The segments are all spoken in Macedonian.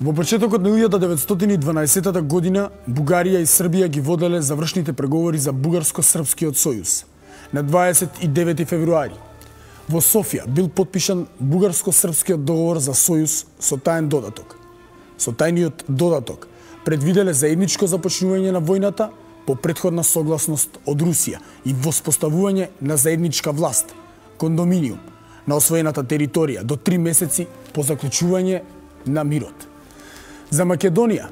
Во почетокот на 1912 година Бугарија и Србија ги воделе завршните преговори за Бугарско-српскиот сојуз. На 29 февруари во Софија бил потпишан Бугарско-српскиот договор за сојуз со таен додаток. Со тајниот додаток предвиделе заедничко започнување на војната по претходна согласност од Русија и воспоставување на заедничка власт, кондоминиум, на освоената територија до 3 месеци по заклучување на мирот. За Македонија,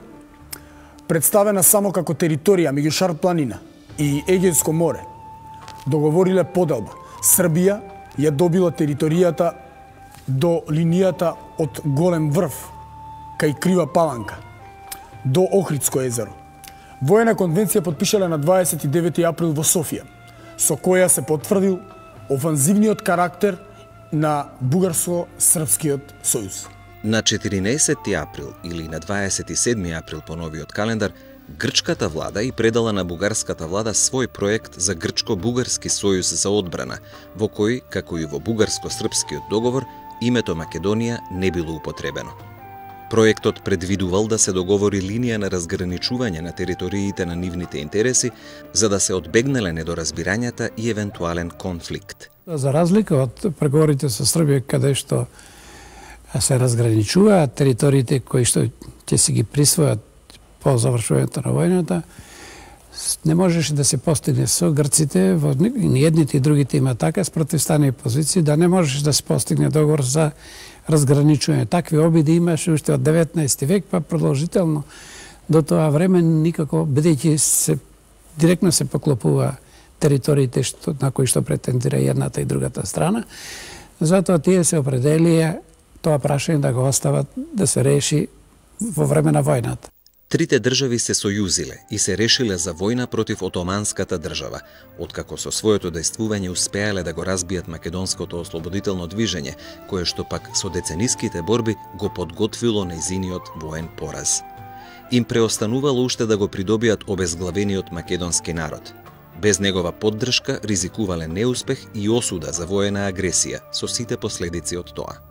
представена само како територија меѓу Шар планина и Егејско море, договориле поделба. Србија ја добила територијата до линијата од Голем врв кај Крива Паланка до Охридско езеро. Воена конвенција подпишале на 29 април во Софија, со која се потврдил офанзивниот карактер на Бугарско-српскиот сојуз. На 14 април или на 27 април по новиот календар, грчката влада и предала на бугарската влада свој проект за грчко-бугарски сојуз за одбрана, во кој, како и во бугарско-српскиот договор, името Македонија не било употребено. Проектот предвидувал да се договори линија на разграничување на териториите на нивните интереси, за да се одбегнеле недоразбирањата и евентуален конфликт. За разлика од преговорите со Србија, каде што се разграничуваат териториите кои што ќе си ги присвојат по завршувањето на војната, не можеше да се постигне со грците, во едните и другите има така спротивставени позиции, да не можеше да се постигне договор за разграничување. Такви обиди имаше уште од 19 век, па продолжително до тоа време никако, бидејќи се директно се поклопува териториите на кои што претендира едната и другата страна, затоа тие се определија тоа прашање да го остават да се реши во време на војната. Трите држави се сојузиле и се решиле за војна против Отоманската држава, откако со своето дејствување успеале да го разбијат македонското ослободително движење, кое што пак со децениските борби го подготвило нејзиниот воен пораз. Им преостанувало уште да го придобијат обезглавениот македонски народ. Без негова поддршка ризикувале неуспех и осуда за воена агресија со сите последици од тоа.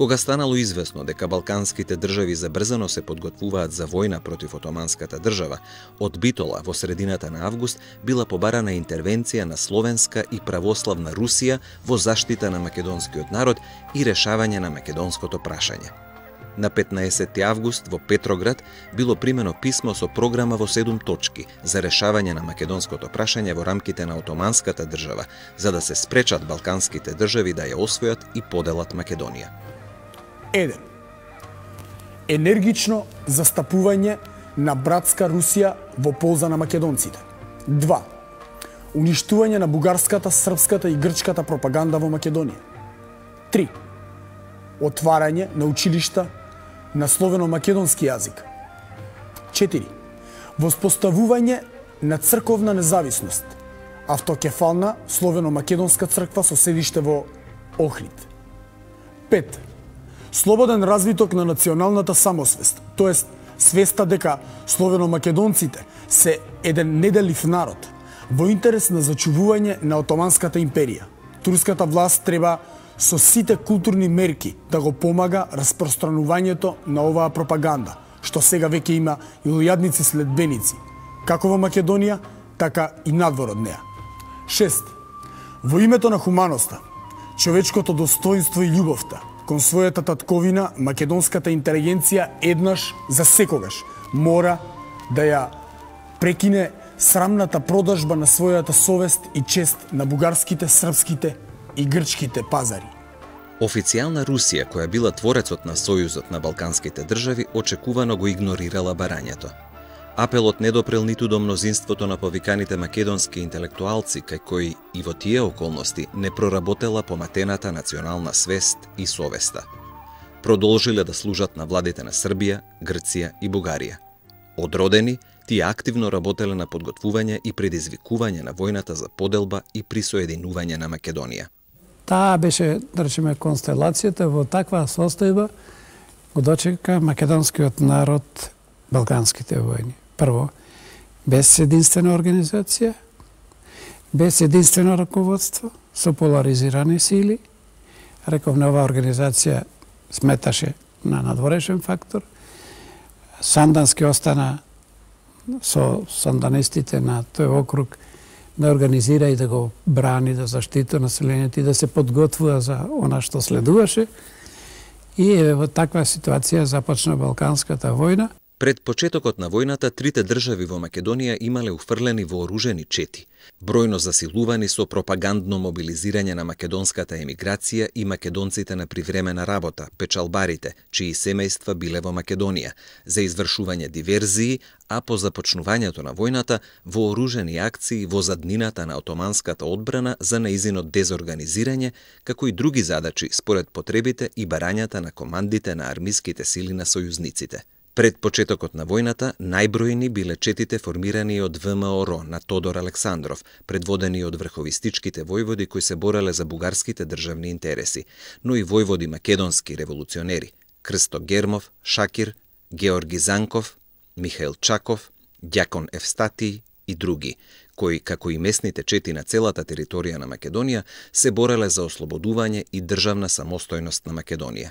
Кога станало известно дека балканските држави забрзано се подготвуваат за војна против Отоманската држава, од Битола во средината на август била побарана интервенција на словенска и православна Русија во заштита на македонскиот народ и решавање на македонското прашање. На 15 август во Петроград било примено писмо со програма во 7 точки за решавање на македонското прашање во рамките на Отоманската држава, за да се спречат балканските држави да ја освојат и поделат Македонија. 1. Енергично застапување на братска Русија во полза на македонците. 2. Уништување на бугарската, српската и грчката пропаганда во Македонија. 3. Отварање на училишта на словено-македонски јазик. 4. Воспоставување на црковна независност, автокефална словено-македонска црква со седиште во Охрид. 5. Слободен развиток на националната самосвест, тоест свеста дека словено-македонците се еден неделив народ, во интерес на зачувување на Отоманската империја. Турската власт треба со сите културни мерки да го помага распространувањето на оваа пропаганда, што сега веќе има илјадници следбеници, како во Македонија, така и надвор од неа. 6. Во името на хуманоста, човечкото достоинство и љубовта, кон својата татковина, македонската интелигенција еднаш за секогаш мора да ја прекине срамната продажба на својата совест и чест на бугарските, српските и грчките пазари. Официјална Русија, која била творецот на сојузот на балканските држави, очекувано го игнорирала барањето. Апелот не допрел ниту до мнозинството на повиканите македонски интелектуалци, кај кои и во тие околности не проработела поматената национална свест и совеста. Продолжиле да служат на владите на Србија, Грција и Бугарија. Одродени, тие активно работеле на подготвување и предизвикување на војната за поделба и присоединување на Македонија. Таа беше, да речеме, констелацијата во таква состојба го дочека македонскиот народ балканските војни. Прво, без единствена организација, без единствено раководство, со поларизирани сили. Рековме, оваа организација сметаше на надворешен фактор. Сандански остана со санданистите на тој округ да организира и да го брани, да заштити населението и да се подготвува за она што следуваше. И во таква ситуација започна Балканската војна. Пред почетокот на војната, трите држави во Македонија имале уфрлени вооружени чети, бројно засилувани со пропагандно мобилизирање на македонската емиграција и македонците на привремена работа, печалбарите, чии семејства биле во Македонија, за извршување диверзии, а по започнувањето на војната, вооружени акции во заднината на отоманската одбрана за нејзино дезорганизирање, како и други задачи според потребите и барањата на командите на армиските сили на сојузниците. Пред почетокот на војната, најбројни биле четите формирани од ВМРО на Тодор Александров, предводени од врховистичките војводи кои се бореле за бугарските државни интереси, но и војводи македонски револуционери – Крсто Гермов, Шакир, Георги Занков, Михаил Чаков, Ѓакон Евстатиј и други, кои, како и местните чети на целата територија на Македонија, се бореле за ослободување и државна самостојност на Македонија.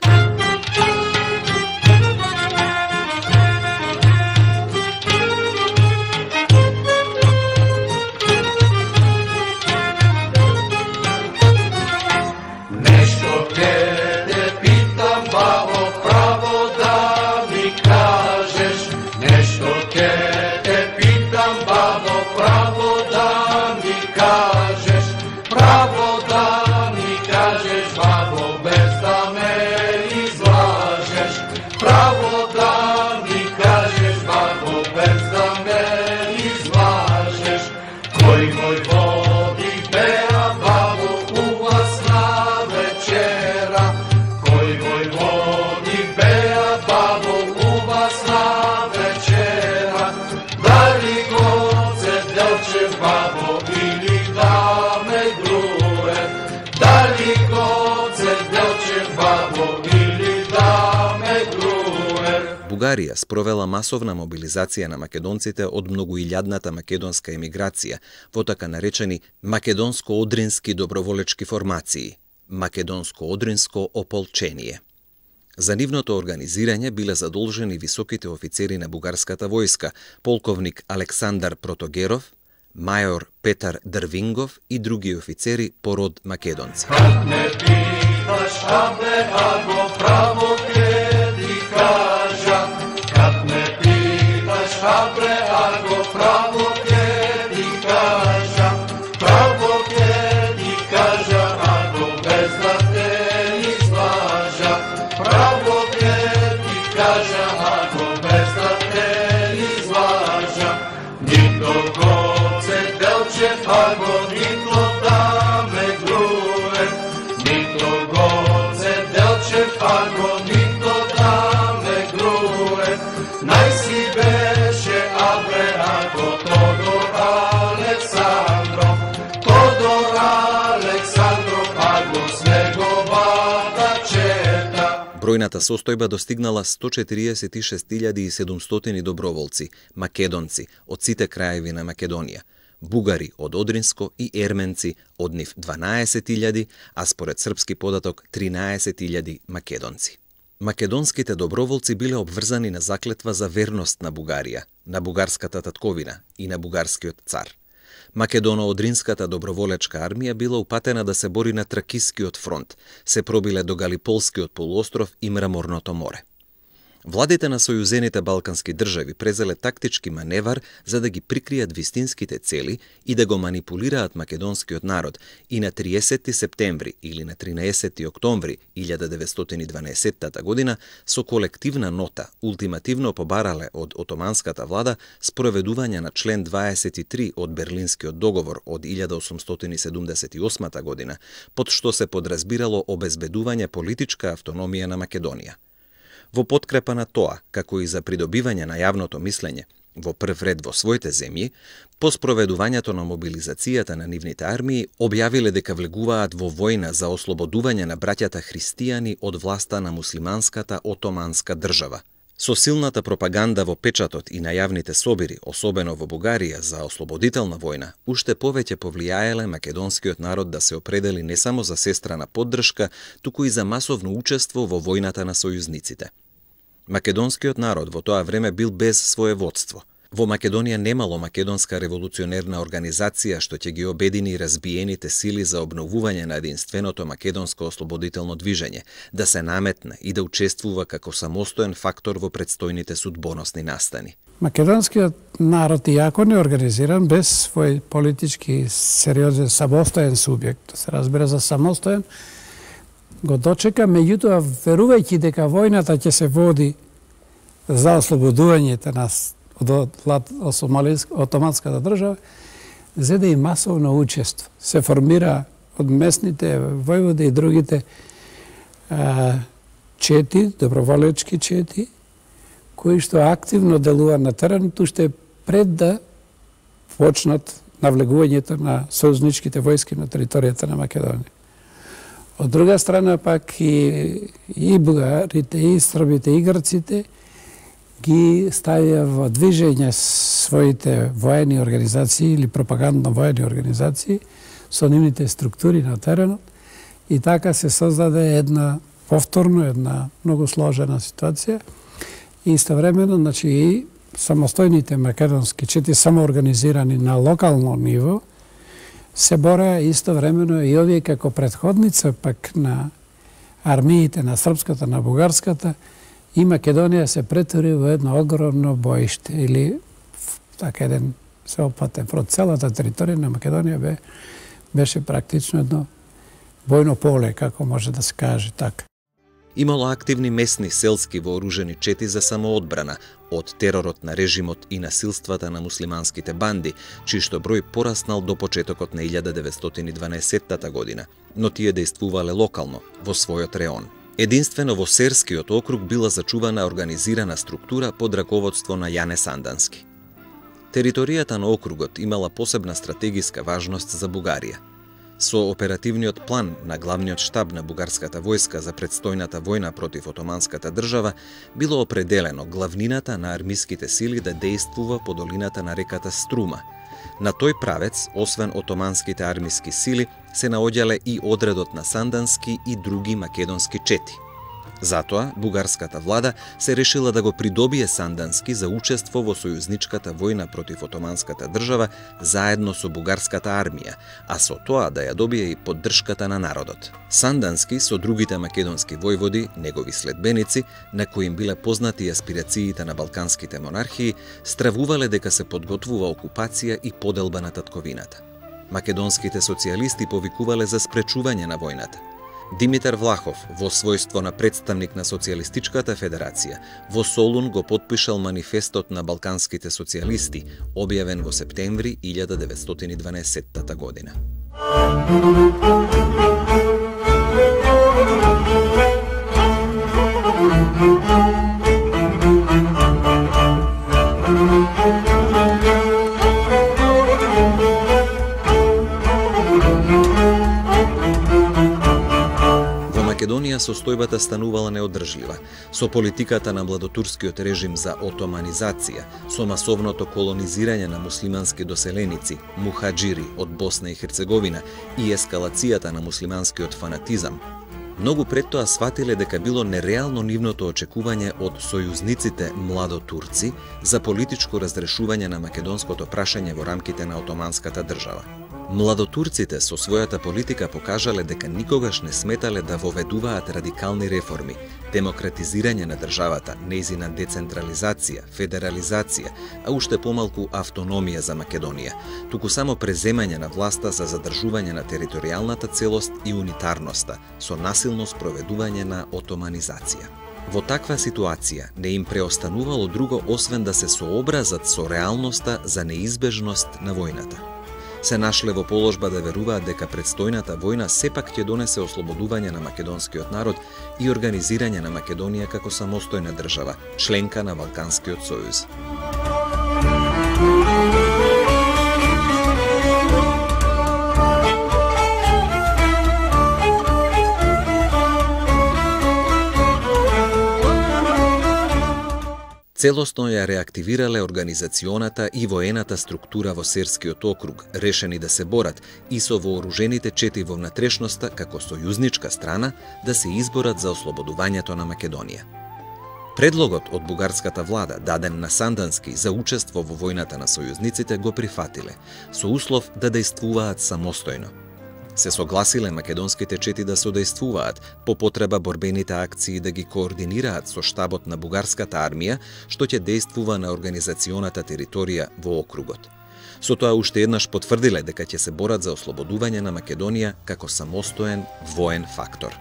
Бугарија спровела масовна мобилизација на македонците од многоилјадната македонска емиграција во така наречени македонско-одрински доброволечки формации, македонско-одринско ополчение. За нивното организирање биле задолжени високите офицери на бугарската војска, полковник Александар Протогеров, мајор Петар Дрвингов и други офицери по род македонци. Бројната состојба достигнала 146.700 доброволци, македонци од сите краеви на Македонија, бугари од Одринско и ерменци од нив 12.000, а според српски податок 13.000 македонци. Македонските доброволци биле обврзани на заклетва за верност на Бугарија, на бугарската татковина и на бугарскиот цар. Македоно-одринската доброволечка армија била упатена да се бори на Тракискиот фронт, се пробиле до Галиполскиот полуостров и Мраморното море. Владите на сојузените балкански држави презеле тактички маневар за да ги прикријат вистинските цели и да го манипулираат македонскиот народ и на 30 септември или на 13 октомври 1912 година со колективна нота ултимативно побарале од отоманската влада спроведување на член 23 од Берлинскиот договор од 1878 година, под што се подразбирало обезбедување политичка автономија на Македонија. Во подкрепа на тоа, како и за придобивање на јавното мислење, во прв ред во своите земји, по спроведувањето на мобилизацијата на нивните армии, објавиле дека влегуваат во војна за ослободување на браќата христијани од власта на муслиманската отоманска држава. Со силната пропаганда во печатот и на јавните собири, особено во Бугарија, за ослободителна војна, уште повеќе повлијаеле македонскиот народ да се определи не само за сестрана поддршка, туку и за масовно учество во војната на сојузниците. Македонскиот народ во тоа време бил без своеводство. Во Македонија немало македонска револуционерна организација што ќе ги обедини разбиените сили за обновување на единственото македонско ослободително движење, да се наметне и да учествува како самостоен фактор во предстојните судбоносни настани. Македонскиот народ, иако не организиран, без свој политички сериозен самостоен субјект, да се разбира за самостоен, го дочека, меѓутоа верувајќи дека војната ќе се води за ослободувањето на Отоманската држава, зеде и масовно учество. Се формира од местните војводи и другите чети, доброволечки чети, кои што активно делува на теренот, уште пред да почнат навлегувањето на сојузничките војски на територијата на Македонија. Од друга страна пак и бугарите, и србите, и грците ги ставија во движење своите воени организации или пропагандно воени организации со нивните структури на теренот и така се создаде една многу сложена ситуација и истовремено, значи, и самостојните македонски чети самоорганизирани на локално ниво се бореа истовремено и овие како предходница пак на армиите на српската, на бугарската, и Македонија се претвори во едно огромно боиште или така еден сеопатен фронт. Целата територија на Македонија беше практично едно војно поле, како може да се каже така. Имало активни местни селски вооружени чети за самоодбрана од теророт на режимот и насилствата на муслиманските банди, чиј што број пораснал до почетокот на 1912 година, но тие действувале локално, во својот реон. Единствено во Серскиот округ била зачувана организирана структура под раководство на Јане Сандански. Територијата на округот имала посебна стратегиска важност за Бугарија. Со оперативниот план на главниот штаб на бугарската војска за предстојната војна против Отоманската држава било определено главнината на армиските сили да действува по долината на реката Струма. На тој правец, освен отоманските армиски сили, се наоѓале и одредот на Сандански и други македонски чети. Затоа, бугарската влада се решила да го придобие Сандански за учество во сојузничката војна против Отоманската држава заедно со бугарската армија, а со тоа да ја добие и поддршката на народот. Сандански со другите македонски војводи, негови следбеници, на кои им биле познати аспирациите на балканските монархии, стравувале дека се подготвува окупација и поделба на татковината. Македонските социјалисти повикувале за спречување на војната. Димитар Влахов, во својство на представник на Социјалистичката федерација, во Солун го потпишал манифестот на балканските социјалисти, објавен во септември 1912 година. Македонија состојбата станувала неодржлива, со политиката на младотурскиот режим за отоманизација, со масовното колонизирање на муслимански доселеници, мухаџири од Босна и Херцеговина и ескалацијата на муслиманскиот фанатизам. Многу пред тоа сватиле дека било нереално нивното очекување од сојузниците младотурци за политичко разрешување на македонското прашање во рамките на Отоманската држава. Младотурците со својата политика покажале дека никогаш не сметале да воведуваат радикални реформи, демократизирање на државата, нејзина децентрализација, федерализација, а уште помалку автономија за Македонија, туку само преземање на власта за задржување на територијалната целост и унитарноста, со насилно спроведување на отоманизација. Во таква ситуација не им преостанувало друго освен да се сообразат со реалноста за неизбежност на војната. Се нашле во положба да веруваат дека предстојната војна сепак ќе донесе ослободување на македонскиот народ и организирање на Македонија како самостојна држава, членка на Балканскиот сојуз. Целосно ја реактивирале организационата и воената структура во Серскиот округ, решени да се борат и со вооружените чети во внатрешноста како сојузничка страна да се изборат за ослободувањето на Македонија. Предлогот од бугарската влада, даден на Сандански за учество во војната на сојузниците, го прифатиле, со услов да дејствуваат самостојно. Се согласиле македонските чети да содействуваат, по потреба борбените акции да ги координираат со штабот на бугарската армија, што ќе дејствува на организационата територија во округот. Со тоа уште еднаш потврдиле дека ќе се борат за ослободување на Македонија како самостоен воен фактор.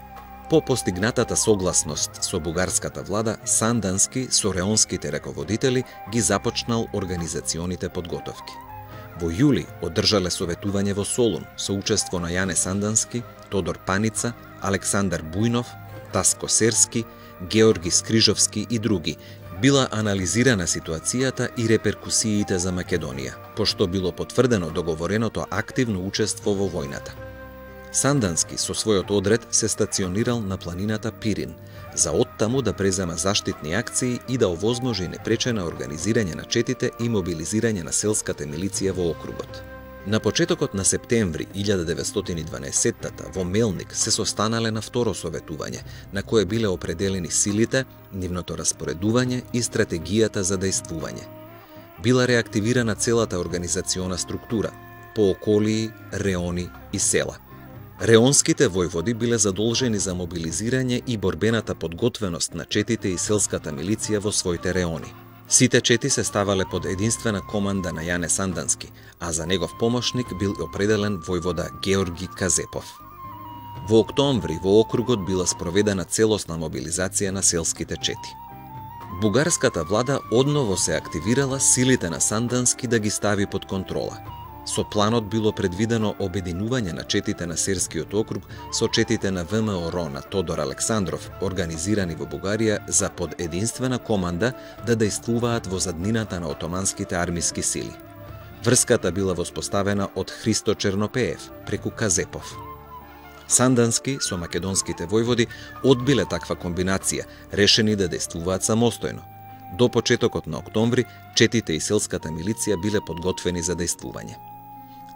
По постигнатата согласност со бугарската влада, Сандански со реонските раководители ги започнал организационите подготовки. Во јули одржале советување во Солун со учество на Јане Сандански, Тодор Паница, Александар Бујнов, Таско Серски, Георги Скрижовски и други. Била анализирана ситуацијата и реперкусиите за Македонија, пошто било потврдено договореното активно учество во војната. Сандански со својот одред се стационирал на планината Пирин, за оттаму да презема заштитни акции и да овозможи непречено организирање на четите и мобилизирање на селската милиција во округот. На почетокот на септември 1912 во Мелник се состанале на второ советување, на кое биле определени силите, нивното распоредување и стратегијата за дејствување. Била реактивирана целата организациона структура, по околии, реони и села. Реонските војводи биле задолжени за мобилизирање и борбената подготвеност на четите и селската милиција во своите реони. Сите чети се ставале под единствена команда на Јане Сандански, а за негов помошник бил определен војвода Георги Казепов. Во октомври во округот била спроведена целосна мобилизација на селските чети. Бугарската влада одново се активирала силите на Сандански да ги стави под контрола. Со планот било предвидено обединување на четите на Серскиот округ со четите на ВМРО на Тодор Александров, организирани во Бугарија за под единствена команда да дејствуваат во заднината на отоманските армиски сили. Врската била воспоставена од Христо Чернопеев преку Казепов. Сандански со македонските војводи одбиле таква комбинација, решени да дејствуваат самостојно. До почетокот на октомври, четите и селската милиција биле подготвени за дејствување.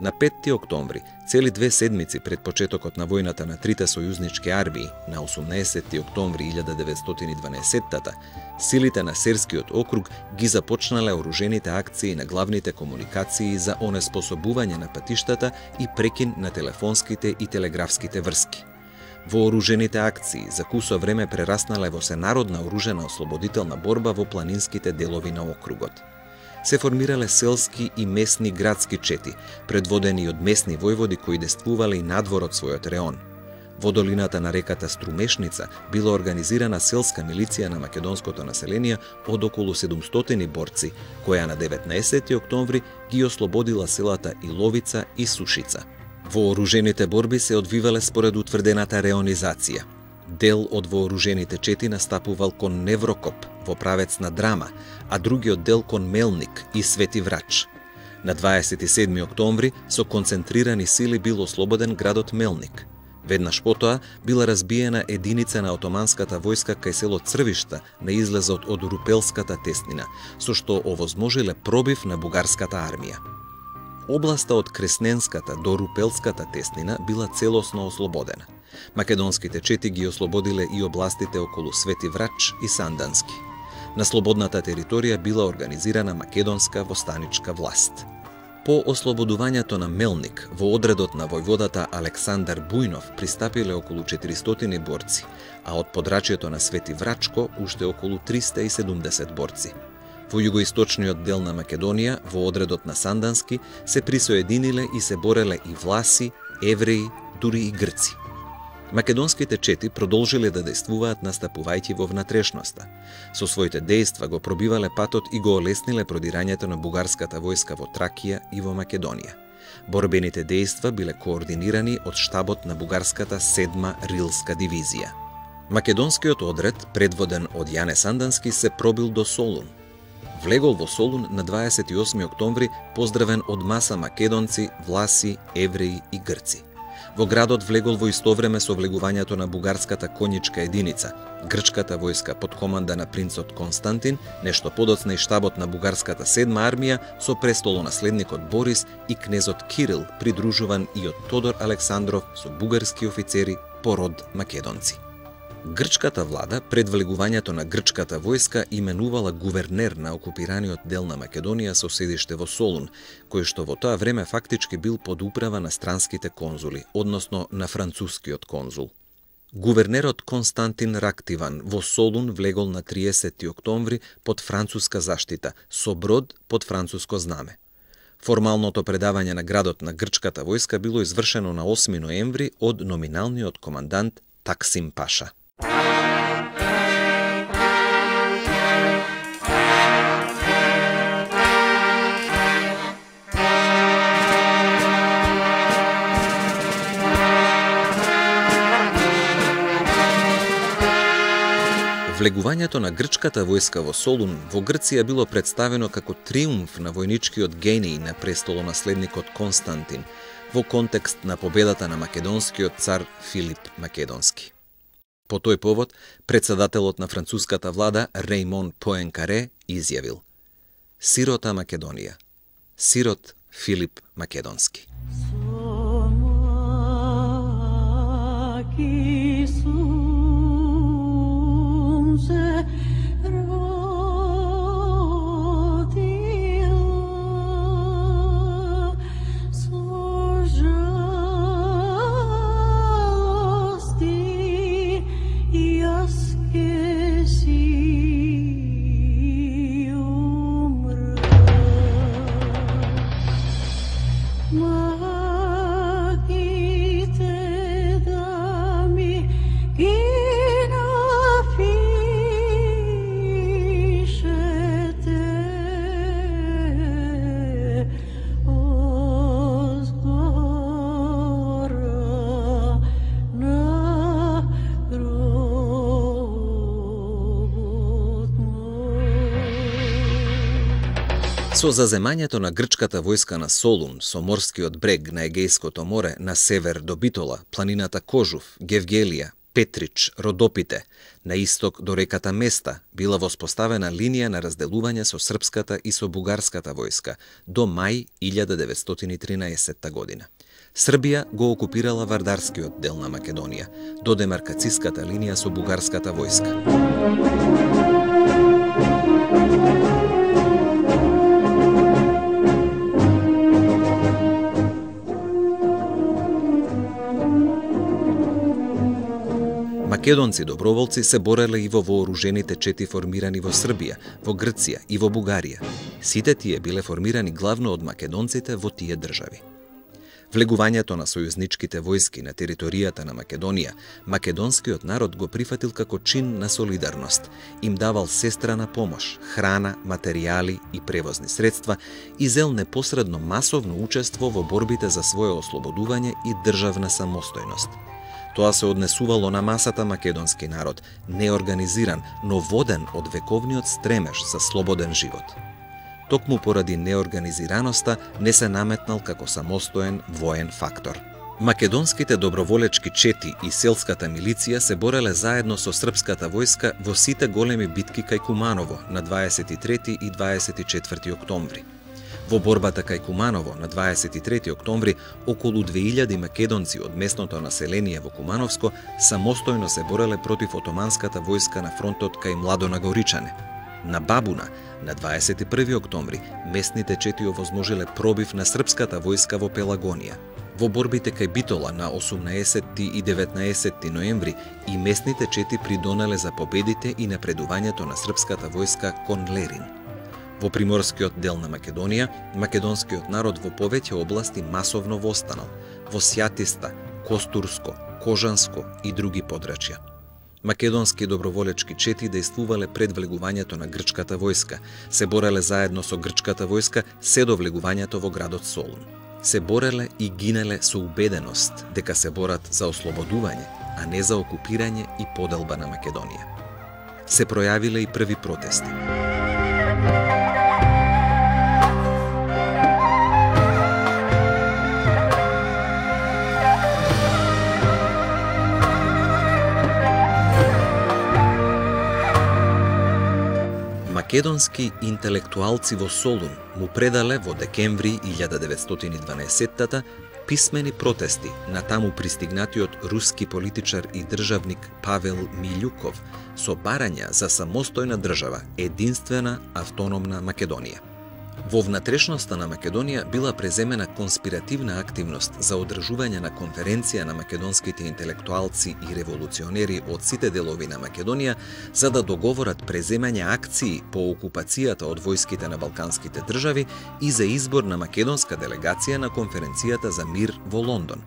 На 5 октомври, цели 2 седмици пред почетокот на војната на трите сојузнички армии, на 18 октомври 1912, силите на Серскиот округ ги започнале оружените акции на главните комуникации за онеспособување на патиштата и прекин на телефонските и телеграфските врски. Вооружените акции за кусо време прераснале во сенародна оружена ослободителна борба во планинските делови на округот. Се формирале селски и месни градски чети, предводени од месни војводи кои дејствувале и надвор од својот реон. Во долината на реката Струмешница била организирана селска милиција на македонското население од околу 700 борци, која на 19 октомври ги ослободила селата Иловица и Сушица. Вооружените борби се одвивале според утврдената реонизација. Дел од вооружените чети настапувал кон Неврокоп во правец на Драма, а другиот дел кон Мелник и Свети Врач. На 27 октомври со концентрирани сили бил ослободен градот Мелник. Веднаш потоа била разбиена единица на отоманската војска кај село Црвишта на излезот од Рупелската теснина, со што овозможиле пробив на бугарската армија. Областа од Кресненската до Рупелската теснина била целосно ослободена. Македонските чети ги ослободиле и областите околу Свети Врач и Сандански. На слободната територија била организирана македонска востаничка власт. По ослободувањето на Мелник, во одредот на војводата Александар Бујнов пристапиле околу 400 борци, а од подрачјето на Свети Врачко уште околу 370 борци. Во југоисточниот дел на Македонија, во одредот на Сандански, се присоединиле и се бореле и власи, евреи, дури и грци. Македонските чети продолжиле да дејствуваат настапувајќи во внатрешноста. Со своите дејства го пробивале патот и го олесниле продирањето на бугарската војска во Тракија и во Македонија. Борбените дејства биле координирани од штабот на бугарската 7-ма рилска дивизија. Македонскиот одред, предводен од Јане Сандански, се пробил до Солун. Влегол во Солун на 28 октомври, поздравен од маса македонци, власи, евреи и грци. Во градот влегол во исто време со влегувањето на бугарската конјичка единица, грчката војска под команда на принцот Константин, нешто подоцна и штабот на бугарската 7-ма армија со престолонаследникот Борис и кнезот Кирил, придружуван и од Тодор Александров со бугарски офицери по род македонци. Грчката влада пред влегувањето на грчката војска именувала гувернер на окупираниот дел на Македонија со седиште во Солун, кој што во тоа време фактички бил под управа на странските конзули, односно на францускиот конзул. Гувернерот Константин Рактиван во Солун влегол на 30 октомври под француска заштита, со брод под француско знаме. Формалното предавање на градот на грчката војска било извршено на 8 ноември од номиналниот командант Таксим Паша. Влегувањето на грчката војска во Солун во Грција било представено како триумф на војничкиот гений на престолонаследникот Константин во контекст на победата на македонскиот цар Филип Македонски. По тој повод, председателот на француската влада Реймон Поенкаре изјавил: "Сирота Македонија, сирот Филип Македонски." Со заземањето на грчката војска на Солун, со морскиот брег на Егејското море на север до Битола, планината Кожув, Гевгелија, Петрич, Родопите, на исток до реката Места, била воспоставена линија на разделување со српската и со бугарската војска до мај 1913 година. Србија го окупирала вардарскиот дел на Македонија, до демаркацијската линија со бугарската војска. Македонци доброволци се бореле и во вооружените чети формирани во Србија, во Грција и во Бугарија. Сите тие биле формирани главно од македонците во тие држави. Влегувањето на сојузничките војски на територијата на Македонија, македонскиот народ го прифатил како чин на солидарност, им давал сестрана помош, храна, материјали и превозни средства и зел непосредно масовно учество во борбите за свое ослободување и државна самостојност. Тоа се однесувало на масата македонски народ, неорганизиран, но воден од вековниот стремеж за слободен живот. Токму поради неорганизираноста не се наметнал како самостоен воен фактор. Македонските доброволечки чети и селската милиција се бореле заедно со српската војска во сите големи битки кај Куманово на 23 и 24 октомври. Во борбата кај Куманово на 23 октомври околу 2000 македонци од местното население во Кумановско самостојно се бореле против отоманската војска на фронтот кај Младонагоричане. На Бабуна на 21 октомври местните чети овозможиле пробив на српската војска во Пелагонија. Во борбите кај Битола на 18 и 19 ноември и местните чети придонеле за победите и напредувањето на српската војска кон Лерин. Во приморскиот дел на Македонија, македонскиот народ во повеќе области масовно востанал, во Сјатиста, Костурско, Кожанско и други подрачја. Македонски доброволечки чети дејствувале пред влегувањето на грчката војска, се бореле заедно со грчката војска се до влегувањето во градот Солун. Се бореле и гинеле со убеденост дека се борат за ослободување, а не за окупирање и поделба на Македонија. Се пројавиле и први протести. Македонски интелектуалци во Солун му предале во декември 1912 писмени протести на таму пристигнатиот руски политичар и државник Павел Милјуков со барања за самостојна држава, единствена автономна Македонија. Во внатрешноста на Македонија била преземена конспиративна активност за одржување на конференција на македонските интелектуалци и револуционери од сите делови на Македонија за да договорат преземање акции по окупацијата од војските на балканските држави и за избор на македонска делегација на конференцијата за мир во Лондон.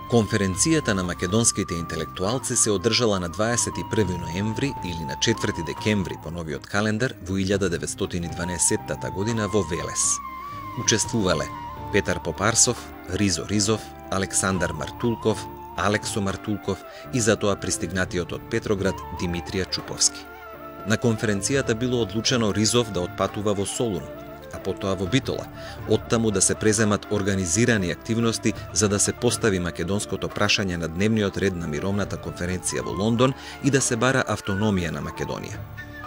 Конференцијата на македонските интелектуалци се одржала на 21 ноември или на 4 декември по новиот календар во 1912 година во Велес. Учествувале Петар Попарсов, Ризо Ризов, Александар Мартулков, Алексо Мартулков и затоа пристигнатиот од Петроград Димитрија Чуповски. На конференцијата било одлучено Ризов да отпатува во Солун, а потоа во Битола, оттаму да се преземат организирани активности за да се постави македонското прашање на дневниот ред на мировната конференција во Лондон и да се бара автономија на Македонија.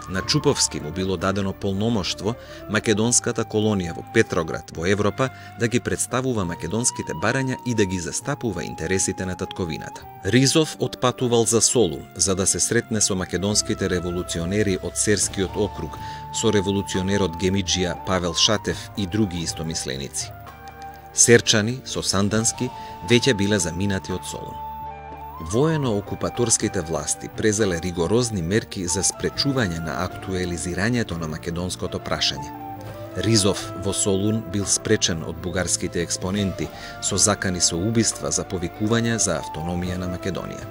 На Чуповски му било дадено полномоштво македонската колонија во Петроград во Европа да ги представува македонските барања и да ги застапува интересите на татковината. Ризов отпатувал за Солун за да се сретне со македонските револуционери од Серскиот округ, со револуционерот Гемиџија Павел Шатев и други истомисленици. Серчани со Сандански веќе биле заминати од Солун. Воено-окупаторските власти презеле ригорозни мерки за спречување на актуелизирањето на македонското прашање. Ризов во Солун бил спречен од бугарските експоненти со закани со убиства за повикување за автономија на Македонија.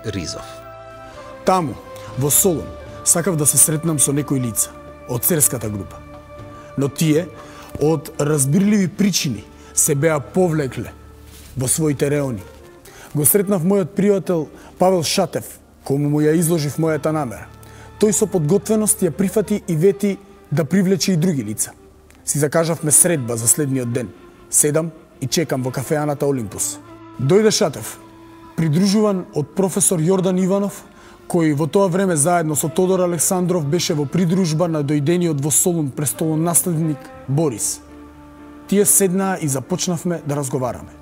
Ризов. Таму, во Солун, сакав да се сретнам со некои лица од церската група. Но тие, од разбирливи причини, се беа повлекле во своите реони. Го сретнав мојот пријател Павел Шатев, кому му ја изложив мојата намера. Тој со подготвеност ја прифати и вети да привлече и други лица. Си закажавме средба за следниот ден. Седам и чекам во кафеаната Олимпус. Дојде Шатев, придружуван од професор Јордан Иванов, кој во тоа време заедно со Тодор Александров беше во придружба на дојдениот во Солун престолонаследник Борис. Тие седнаа и започнавме да разговараме.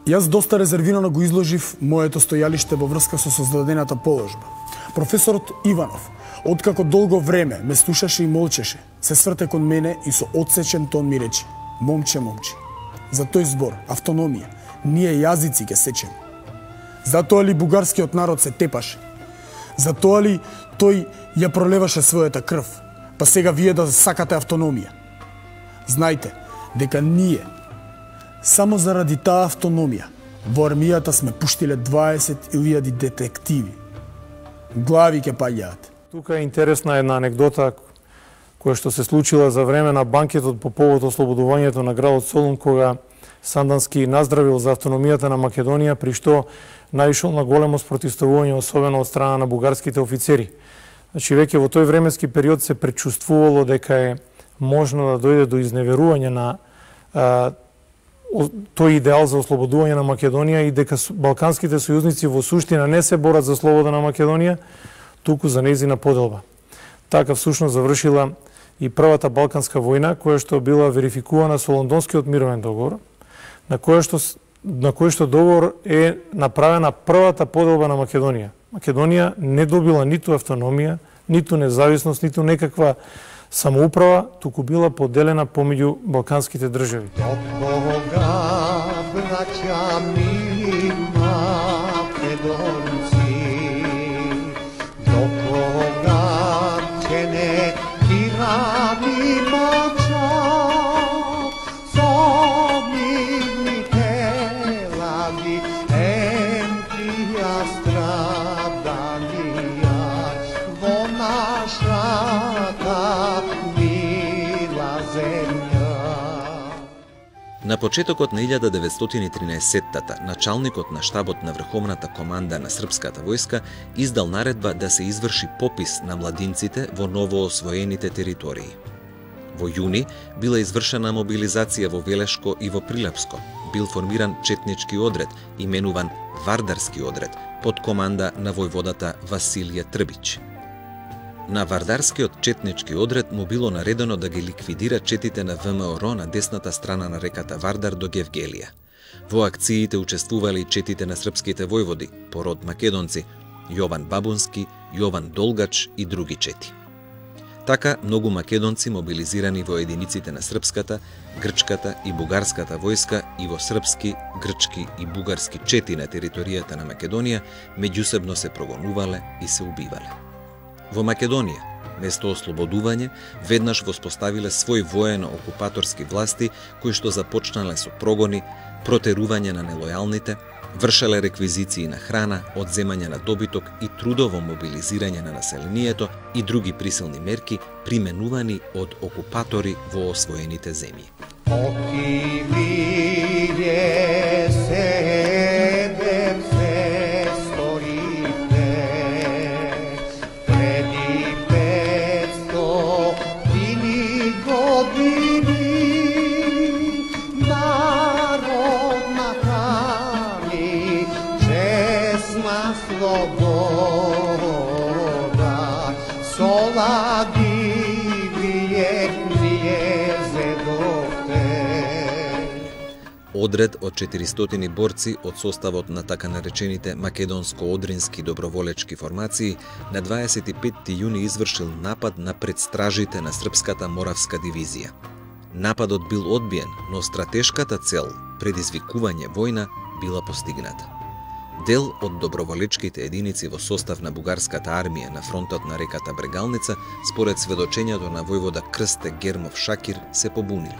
Јас доста резервирано го изложив моето стојалиште во врска со создадената положба. Професорот Иванов, откако долго време ме слушаше и молчеше, се сврте кон мене и со одсечен тон ми рече: "Момче, момче, за тој збор, автономија, ние јазици ќе сечеме. Затоа ли бугарскиот народ се тепаше? Затоа ли тој ја пролеваше својата крв, па сега вие да сакате автономија? Знајте дека ние само заради таа автономија во армијата сме пуштиле 20.000 детективи. Глави ќе паѓаат." Тука е интересна една анегдота која што се случила за време на банкетот по повод ослободувањето на градот Солун, кога Сандански наздравил за автономијата на Македонија, при што наишол на големо спротивставување, особено од страна на бугарските офицери. Значи, веќе во тој временски период се пречувствувало дека е можно да дојде до изневерување на тој идеал за ослободување на Македонија и дека балканските сојузници во суштина не се борат за слобода на Македонија, туку за нејзина поделба. Така всушност завршила и првата Балканска војна, која што била верификувана со Лондонскиот мировен договор, на кој што договор е направена првата поделба на Македонија. Македонија не добила ниту автономија, ниту независност, ниту некаква самоуправа, туку била поделена помеѓу балканските држави. До кога, браќа мили македонци, до кога ќе не тиранимо чак, со мирните лаги, емтија страданија, во нашата мила земја. На почетокот на 1913-тата, началникот на штабот на Врховната команда на Српската војска издал наредба да се изврши попис на младинците во новоосвоените територии. Во јуни била извршена мобилизација во Велешко и во Прилепско. Бил формиран четнички одред, именуван Вардарски одред, под команда на војводата Василije Трбич. На Вардарскиот четнички одред му било наредено да ги ликвидира четите на ВМРО на десната страна на реката Вардар до Гевгелија. Во акциите учествувале и четите на српските војводи, по род македонци, Јован Бабунски, Јован Долгач и други чети. Така, многу македонци мобилизирани во единиците на српската, грчката и бугарската војска и во српски, грчки и бугарски чети на територијата на Македонија, меѓусебно се прогонувале и се убивале. Во Македонија, место ослободување, веднаш воспоставиле свој воено-окупаторски власти, кои што започнале со прогони, протерување на нелојалните, вршеле реквизиции на храна, одземање на добиток и трудово мобилизирање на населението и други присилни мерки применувани од окупатори во освоените земји. Оки виде себе се сторите, преди 500 години слобода, солаги вие зедовте. Одред од 400 борци од составот на така наречените македонско-одрински доброволечки формации на 25 јуни извршил напад на предстражите на српската Моравска дивизија. Нападот бил одбиен, но стратешката цел, предизвикување војна, била постигната. Дел од доброволечките единици во состав на бугарската армија на фронтот на реката Брегалница, според сведочењето на војвода Крсте Гермов Шакир, се побуниле.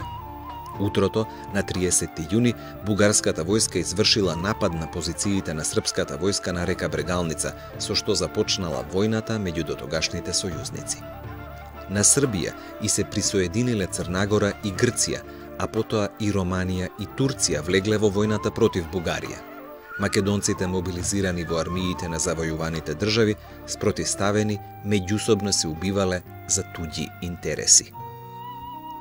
Утрото, на 30 јуни, бугарската војска извршила напад на позициите на српската војска на река Брегалница, со што започнала војната меѓу дотогашните сојузници. На Србија и се присоединиле Црнагора и Грција, а потоа и Романија и Турција влегле во војната против Бугарија. Македонците мобилизирани во армиите на завојуваните држави, спротивставени, меѓусобно се убивале за туѓи интереси.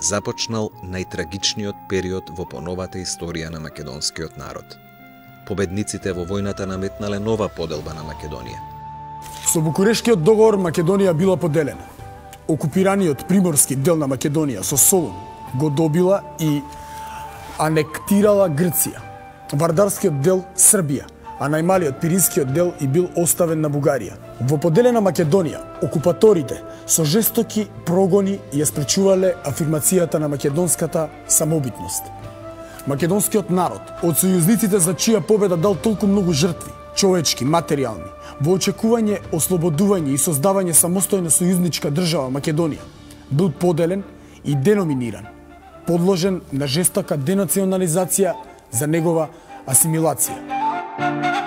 Започнал најтрагичниот период во поновата историја на македонскиот народ. Победниците во војната наметнале нова поделба на Македонија. Со Букурешкиот договор Македонија била поделена. Окупираниот приморски дел на Македонија со Солун го добила и анектирала Грција. Вардарскиот дел Србија, а најмалиот Пиринскиот дел и бил оставен на Бугарија. Во поделена Македонија, окупаторите со жестоки прогони ја спречувале афирмацијата на македонската самобитност. Македонскиот народ, од сојузниците за чија победа дал толку многу жртви, човечки, материјални, во очекување ослободување и создавање самостојна сојузничка држава Македонија, бил поделен и деноминиран, подложен на жестока денационализација за негова асимилација.